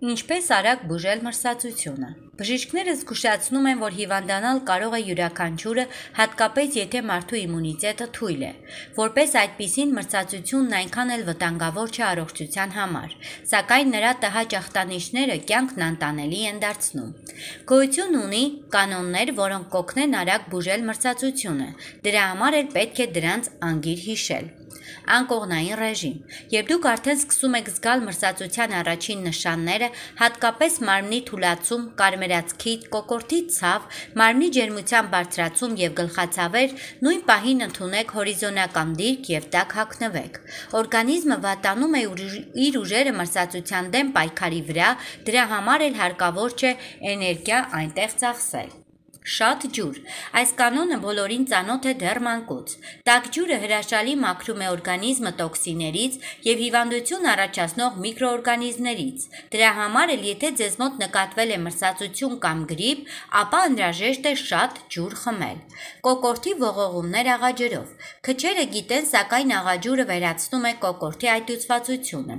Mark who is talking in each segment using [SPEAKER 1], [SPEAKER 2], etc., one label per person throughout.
[SPEAKER 1] Ինչպես արագ բուժել մրսածությունը։ Բժիշկները զգուշացնում են, որ հիվանդանալ կարող է յուրաքանչյուրը, հատկապես եթե մարդու իմունիտետը թույլ է, որպես այդպիսին մրսածությունն այնքան էլ վտանգավոր չէ առողջության համար, սակայն նրա տհաճ ախտանիշները կյանքն անտանելի են դարձնում։ Գոյություն ունի կանոններ, որոնք կօգնեն արագ բուժել մրսածությունը, դրա համար էլ պետք է դրանց անգիր հիշել։ Անկողնային ռեժիմ։ Երբ դուք արդեն սկսում եք զգալ մրսածության առաջին նշանները, հատկապես մարմնի թուլացում, կարմրացքի, կոկորդի ցավ, մարմնի ջերմության բարձրացում եւ գլխացավեր, նույն պահին ընդունեք հորիզոնական դիրք եւ տաք հագնվեք։ Օրգանիզմը վատանում է իր ուժերը մրսածության դեմ պայքարի վրա, դրա համար էլ հարկավոր չէ էներգիա այնտեղ ծախսել։ Շատ ջուր։ Այս կանոնը բոլորին ծանոթ է դեռ մանկուց։ Տաք ջուրը հրաշալի մաքրում է օրգանիզմը տոքսիներից եւ հիվանդություն առաջացնող միկրոօրգանիզմներից։ Դրա համար էլ եթե ձեզ մոտ նկատվել է մրսածություն կամ գրիպ, ապա անհրաժեշտ է շատ ջուր խմել։ Կոկորդի ողողումներ աղաջրով։ Քչերը գիտեն, սակայն աղաջուրը վերացնում է կոկորդի այտուցվածությունը։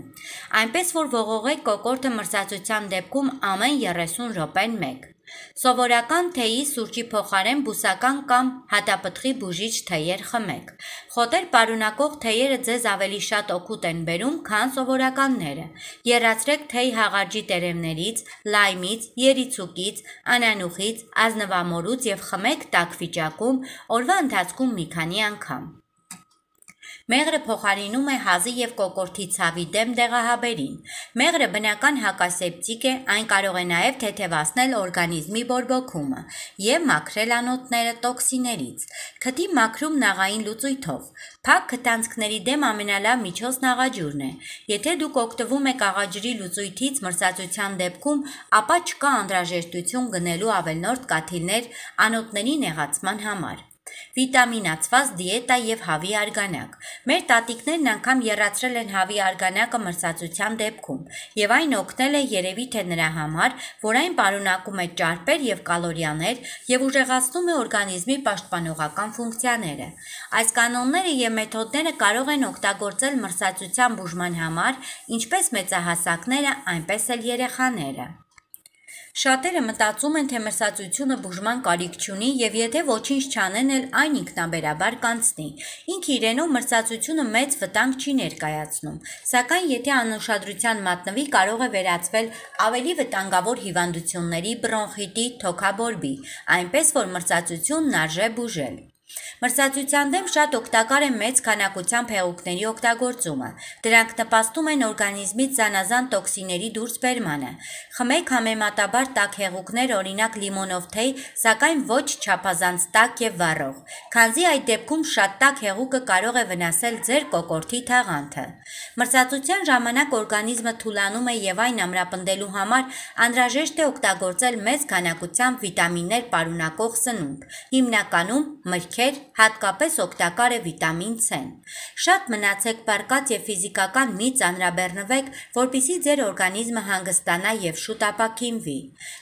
[SPEAKER 1] Այնպես որ ողողեք կոկորդը մրսածության դեպքում ամեն 30 րոպեն մեկ։ Սովորական թեյի սուրճի փոխարեն բուսական կամ հատապտղի բուժիչ թեյեր խմեք։ Խոտեր պարունակող թեյերը ձեզ ավելի շատ օգուտ են բերում, քան սովորականները։ Եռացրեք թեյ հաղարջի տերևներից, լայմից, երիցուկից, անանուխից, ազնվամորուց եւ խմեք տաք վիճակում, օրվա ընթացքում մի քանի անգամ։ Մեղրը փոխարինում է հազի եւ կոկորդի ցավի դեմ դեղահաբերին։ Մեղրը բնական հակասեպտիկ է, այն կարող է նաեւ թեթևացնել օրգանիզմի բորբոքումը եւ մաքրել անոթները տոքսիներից։ Քթի մաքրումն աղային լուծույթով։ Փակ քթանցքների դեմ ամենալավ միջոցն աղաջուրն է։ Եթե դուք օգտվում եք աղաջրի լուծույթից մրսածության դեպքում, ապա չկա անհրաժեշտություն գնելու ավելորդ կաթիլներ անոթների նեղացման համար։ Վիտամինացված դիետա եւ հավի արգանակ։ Մեր տատիկներն անգամ եռացրել են հավի արգանակը մրսածության դեպքում, եւ այն օգնել է երևի թե նրա համար, որ այն պարունակում է ճարպեր եւ կալորիաներ եւ ուժեղացնում է օրգանիզմի պաշտպանողական ֆունկցիաները։ Այս կանոնները եւ մեթոդները կարող են օգտագործել մրսածության բուժման համար, ինչպես մեծահասակները, այնպես էլ երեխաները։ Շատերը մտածում են, թե մրսածությունը բուժման կարիք չունի եւ եթե ոչինչ չանեն էլ այն ինքնաբերաբար կանցնի։ Ինքը իրենով մրսածությունը մեծ վտանգ չի ներկայացնում, սակայն եթե անուշադրության մատնվի, կարող է վերածվել ավելի վտանգավոր հիվանդությունների, բրոնխիտի, թոքաբորբի, այնպես որ մրսածությունն արժե բուժել։ Մրսածության դեմ շատ օգտակար է մեծ քանակությամբ հեղուկների օգտագործումը։ Դրանք նպաստում են օրգանիզմից զանազան տոքսինների դուրսբերմանը։ Խմեք համեմատաբար տաք հեղուկներ, օրինակ լիմոնով թեյ, սակայն ոչ չափազանց տաք եւ վառող, քանզի այդ դեպքում շատ տաք հեղուկը կարող է վնասել ձեր կոկորդի թաղանթը։ Մրսածության ժամանակ օրգանիզմը թուլանում է եւ այն ամրապնդելու համար անհրաժեշտ է օգտագործել մեծ քանակությամբ վիտամիններ պարունակող սնունդ, հիմնականում մրգեր, հատկապես օգտակար է վիտամին C-ն։ Շատ մնացեք պարկած եւ ֆիզիկական մի ծանրաբեռնվեք, որպեսզի ձեր օրգանիզմը հանգստանա եւ շուտ ապաքինվի։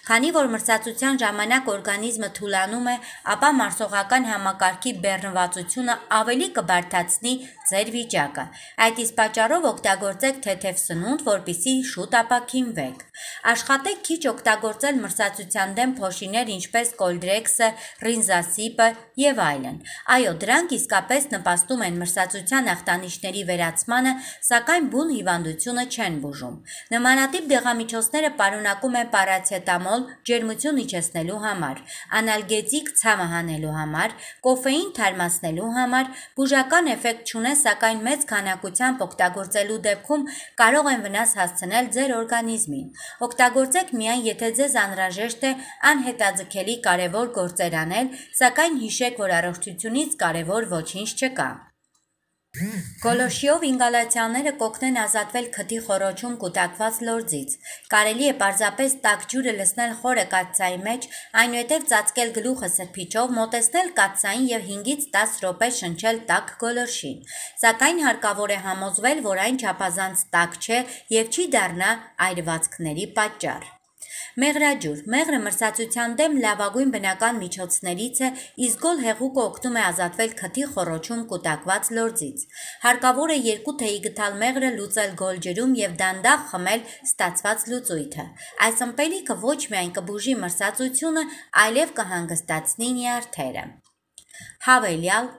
[SPEAKER 1] Քանի որ մրսածության ժամանակ օրգանիզմը թուլանում է, ապա մարսողական համակարգի բեռնվածությունը ավելի կբարդացնի ձեր վիճակը։ Այդ իսկ պատճառով օգտագործեք թեթև սնունդ, որպեսզի շուտ ապաքինվեք։ Աշխատեք քիչ օգտագործել մրսածության դեմ փոշիներ, ինչպես կոլդրեքսը, ռինզասիպը եւ այլն։ Այո, դրանք իսկապես նպաստում են մրսածության ախտանիշների վերացմանը, սակայն բուն հիվանդությունը չեն բուժում։ Նմանատիպ դեղամիջոցները պարունակում են պարացետամոլ ջերմություն իջեցնելու համար, անալգետիկ ցամը հանելու համար, կոֆեին թարմացնելու համար, բուժական էֆեկտ չունեն, սակայն մեծ քանակությամբ օգտագործելու դեպքում կարող են վնաս հասցնել ձեր օրգանիզմին։ Օգտագործեք միայն, եթե ձեզ անհրաժեշտ է անհետաձգելի կարևոր գործեր անել, սակայն հիշեք, որ առողջությունից կարևոր ոչինչ չկա։ Գոլոշիով ինգալացիաները կօգնեն ազատվել քթի խոռոչում կուտակված լորձից։ Կարելի է պարզապես տաք ջուրը լցնել խորը կաթսայի մեջ, այնուհետև ծածկել գլուխը սրբիչով, մոտեցնել կաթսային եւ 5-ից 10 րոպե շնչել տաք գոլոշին։ Սակայն հարկավոր է համոզվել, որ այն չափազանց տաք չէ եւ չի դառնա այրվածքների պատճառ։ Մեղրաջուր։ Մեղրը մրսածության դեմ լավագույն բնական միջոցներից է, իսկ գոլ հեղուկը օգնում է ազատվել քթի խոռոչում կուտակված լորձից։ Հարկավոր է 2 թեյի գթալ մեղրը լուծել գոլ ջրում եւ դանդաղ խմել ստացված լուծույթը։ Այս ըմպելիքը ոչ միայն կբուժի մրսածությունը, այլև կհանգստացնի նյարդերը։ Հավելյալ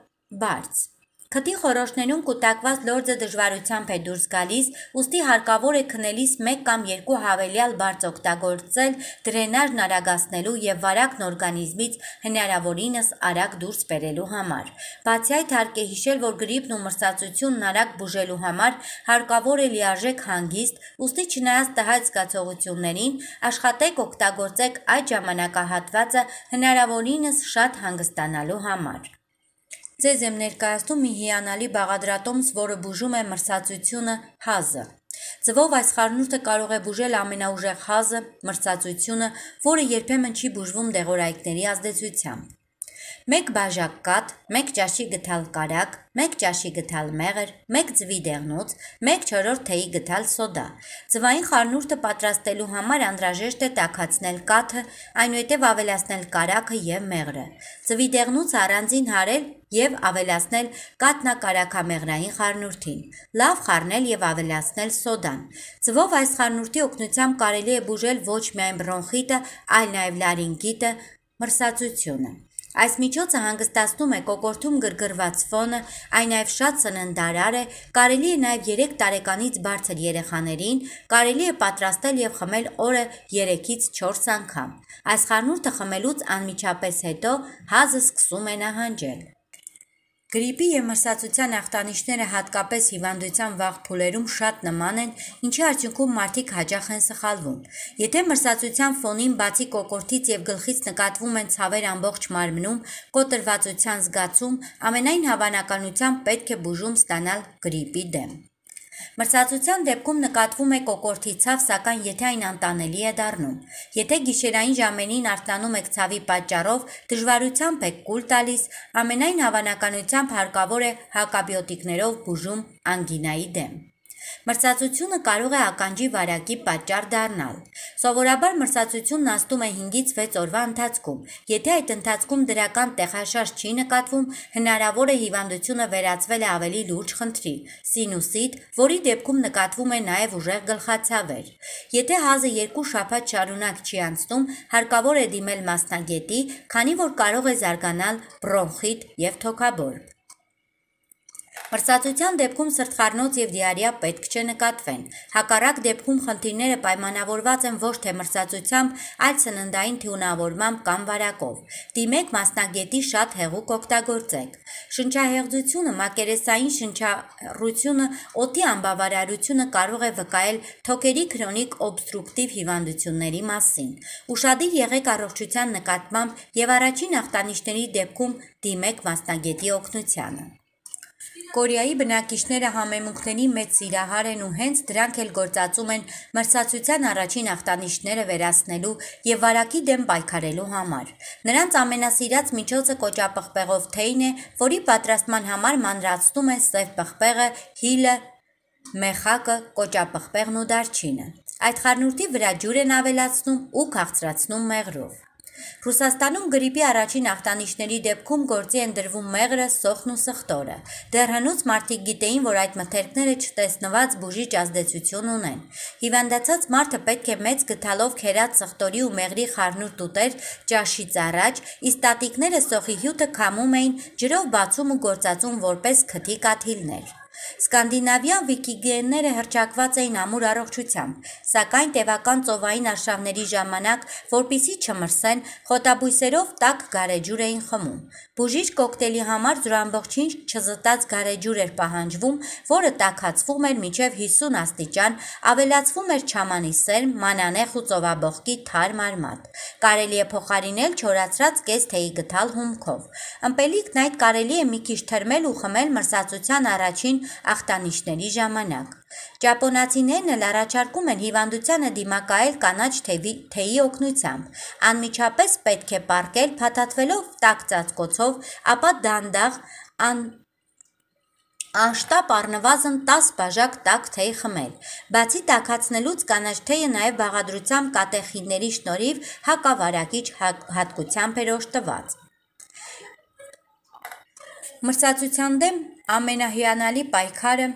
[SPEAKER 1] բարձ։ Քթի խոռոչներում կուտակված լորձը դժվարությամբ է դուրս գալիս, ուստի հարկավոր է քնելիս 1 կամ 2 հավելյալ բարձ օգտագործել դրենաժն արագացնելու եւ վարակն օրգանիզմից հնարավորինս արագ դուրս բերելու համար։ Բացի այդ, հարկ է հիշել, որ գրիպն ու մրսածությունն արագ բուժելու համար հարկավոր է լիարժեք հանգիստ, ուստի չնայած տհաճ զգացողություններին, աշխատեք օգտագործեք այդ ժամանակահատվածը հնարավորինս շատ հանգստանալու համար։ Ձեզ եմ ներկայացնում մի հիանալի բաղադրատոմս, որը բուժում է մրսածությունը՝ հազը։ Ձվով այս խառնուրդը կարող է բուժել ամենաուժեղ հազը, մրսածությունը, որը երբեմն չի բուժվում դեղորայքների ազդեցությամբ։ 1 բաժակ կաթ, 1 ճաշի գթալ կարագ, 1 ճաշի գթալ մեղր, 1 ձվի դեղնուց, 1/4 թեյի գթալ սոդա։ Ձվային խառնուրդը պատրաստելու համար անհրաժեշտ է տաքացնել կաթը, այնուհետև ավելացնել կարագը եւ մեղրը։ Ձվի դեղնուց առանձին հարել եւ ավելացնել կաթնակարաքամեղրային խառնուրդին։ Լավ խառնել եւ ավելացնել սոդան։ Ձվով այս խառնուրդի օգնությամբ կարելի է բուժել ոչ միայն բրոնխիտը, այլ նաեւ լարինգիտը, մրսածությունը։ Այս միջոցը հանգստացնում է կոկորդում գրգռված ֆոնը, այն նաև շատ սննդարար է, կարելի է նաև 3 տարեկանից բարձր երեխաներին, կարելի է պատրաստել եւ խմել օրը 3-ից 4 անգամ։ Այս խառնուրդը խմելուց անմիջապես հետո հազը սկսում է նահանջել։ Գրիպի եւ մրսածության ախտանիշները հատկապես հիվանդության վաղ փուլերում շատ նման են, ինչի արդյունքում մարդիկ հաճախ են սխալվում։ Եթե մրսածության ֆոնին բացի կոկորդից եւ գլխից նկատվում են ցավեր ամբողջ մարմնում, կոտրվածության զգացում, ամենայն հավանականությամբ պետք է բուժում ստանալ գրիպի դեմ։ Մրսածության դեպքում նկատվում է կոկորդի ցավ, սակայն եթե այն անտանելի է դառնում։ Եթե գիշերային ժամերին արթնանում եք ցավի պատճառով, դժվարությամբ եք կուլ տալիս, ամենայն հավանականությամբ հարկավոր է հակաբիոտիկներով բուժում անգինայի դեմ։ Մրսածությունը կարող է ականջի վարակի պատճառ դառնալ։ Սովորաբար մրսածությունն ազդում է 5-ից 6 օրվա ընթացքում։ Եթե այդ ընթացքում դրական տեղաշարժ չի նկատվում, հնարավոր է հիվանդությունը վերածվել է ավելի լուրջ խնդրի՝ սինուսիտ, որի դեպքում նկատվում է նաև ուժեղ գլխացավեր։ Եթե հազը 2 շաբաթ շարունակ չի անցնում, հարկավոր է դիմել մասնագետի, քանի որ կարող է զարգանալ բրոնխիտ եւ թոքաբորբ։ Մրսածության դեպքում սրտխառնոց եւ դիարեա պետք չէ նկատվեն։ Հակառակ դեպքում խնդիրները պայմանավորված են ոչ թե մրսածությամբ, այլ սննդային թյունավորմամբ կամ վարակով։ Դիմեք մասնագետի, շատ հեղուկ օգտագործեք։ Շնչահեղձությունը, մակերեսային շնչառությունը, օդի անբավարարությունը կարող է վկայել թոքերի քրոնիկ օբստրուկտիվ հիվանդությունների մասին։ Ուշադիր եղեք առողջության նկատմամբ եւ առաջին ախտանիշների դեպքում դիմեք մասնագետի օգնությանը։ Կորեայի բնակիչները համեմունքների մեծ սիրահար են ու հենց դրանք էլ գործածում են մրսածության առաջին ախտանիշները վերացնելու եւ վարակի դեմ պայքարելու համար։ Նրանց ամենասիրած միջոցը կոճապղպեղով թեյն է, որի պատրաստման համար մանրացնում են սև պղպեղը, հիլը, մեխակը, կոճապղպեղն ու դարչինը։ Այդ խառնուրդի վրա ջուր են ավելացնում ու քաղցրացնում մեղրով։ Ռուսաստանում գրիպի առաջին ախտանիշների դեպքում գործի են դրվում մեղրը, սոխն ու սխտորը։ Դեռ հնուց մարդիկ գիտեին, որ այդ մթերքները չտեսնված բուժիչ ազդեցություն ունեն։ Հիվանդացած մարդը պետք է մեծ գթալով քերած սխտորի ու մեղրի խառնուրդ ուտեր ճաշից առաջ, իսկ տատիկները սոխի հյութը քամում էին, ջրով բացում ու գործածում որպես քթի կաթիլներ։ Սկանդինավյան վիկինգները հռչակված էին ամուր առողջությամբ, սակայն տևական ծովային արշավների ժամանակ, որպեսզի չմրսեն, խոտաբույսերով տաք գարեջուր էին խմում։ Բուժիչ կոկտեյլի համար զուր չզտած գարեջուր էր պահանջվում, որը տաքացվում էր մինչև 50 աստիճան, ավելացվում էր չամանի սերմ, մանանեխ ու ծովաբողկի թարմ արմատ։ Կարելի է փոխարինել չորացրած կես թեյի գթալ հումքով։ Ըմպելիքն այդ կարելի է մի քիչ թրմել ու խմել մրսածության առաջին ախտանիշների ժամանակ։ Ճապոնացիներն էլ առաջարկում են հիվանդությանը դիմակայել կանաչ թեյի օգնությամբ։ Անմիջապես պետք է պառկել փաթաթվելով տաք ծածկոցով, ապա դանդաղ Անշտապ առնվազն 10 բաժակ տաք թեյ խմել։ Բացի տաքացնելուց կանաչ թեյը նաև բաղադրությամբ կատեխինների շնորհիվ հակավարակիչ հատկությամբ էր օժտված։ Մրցակցության դեմ ամենահիանալի պայքարը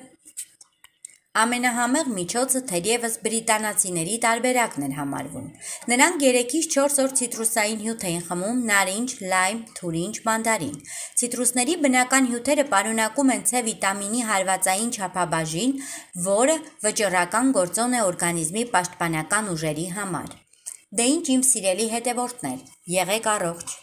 [SPEAKER 1] ամենահամեղ միջոցը թերևս բրիտանացիների տարբերակն էր համարվում։ Նրանք 3-ից 4 օր ցիտրուսային հյութ էին խմում՝ նարինջ, լայմ, թուրինջ, մանդարին։ Ցիտրուսների բնական հյութերը պարունակում են C վիտամինի հարվածային չափաբաժին, որը վճռական գործոն է օրգանիզմի պաշտպանական ուժերի համար։ Դե ինչ իմ սիրելի հետևորդներ, եղեք առողջ։